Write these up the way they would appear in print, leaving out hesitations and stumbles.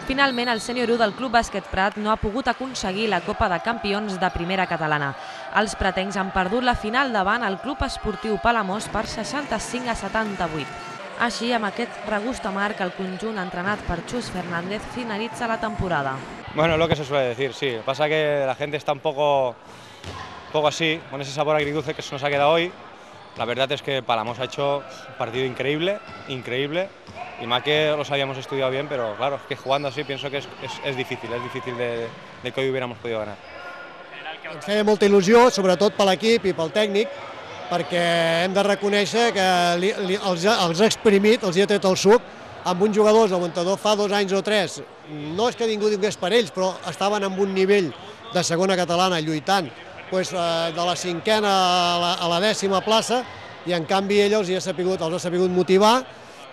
Finalment, el sènior 1 del Club Bàsquet Prat no ha pogut aconseguir la Copa de Campions de Primera Catalana. Els pretencs han perdut la final davant el Club Esportiu Palamós per 65-78. Així, amb aquest regust amarg, el conjunt entrenat per Chus Fernández finalitza la temporada. Bueno, lo que se suele decir, sí. Pasa que la gente está un poco así, con ese sabor agridulce que se nos ha quedado hoy. La verdad es que Palamós ha hecho un partido increíble, y más que los habíamos estudiado bien, pero claro, es que jugando así pienso que es difícil de que hoy hubiéramos podido ganar. Ens feia molta il·lusió, sobretot per l'equip i pel tècnic, perquè hem de reconèixer que els ha exprimit, els ha tret el suc, amb uns jugadors del muntador fa 2 anys o 3. No és que ningú digués per ells, però estaven en un nivell de segona catalana lluitant de la 5a a la 10a plaça, i en canvi ell els ha sabut motivar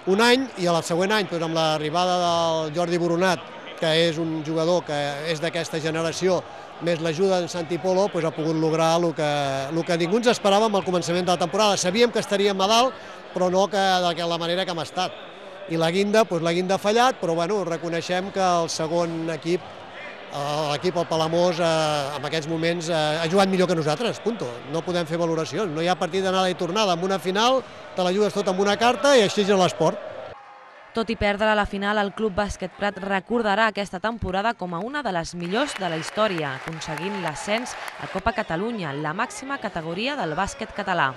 un any, i el següent any, amb l'arribada del Jordi Boronat, que és un jugador que és d'aquesta generació, més l'ajuda d'en Santi Polo, ha pogut lograr el que ningú ens esperava al començament de la temporada. Sabíem que estaríem a dalt, però no de la manera que hem estat. I la guinda ha fallat, però reconeixem que el segon equip, l'equip, el Palamós, en aquests moments ha jugat millor que nosaltres, punto. No podem fer valoracions, no hi ha partit d'anada i tornada. En una final te la jugues tot amb una carta i així és l'esport. Tot i perdre la final, el Club Bàsquet Prat recordarà aquesta temporada com a una de les millors de la història, aconseguint l'ascens a Copa Catalunya, la màxima categoria del bàsquet català.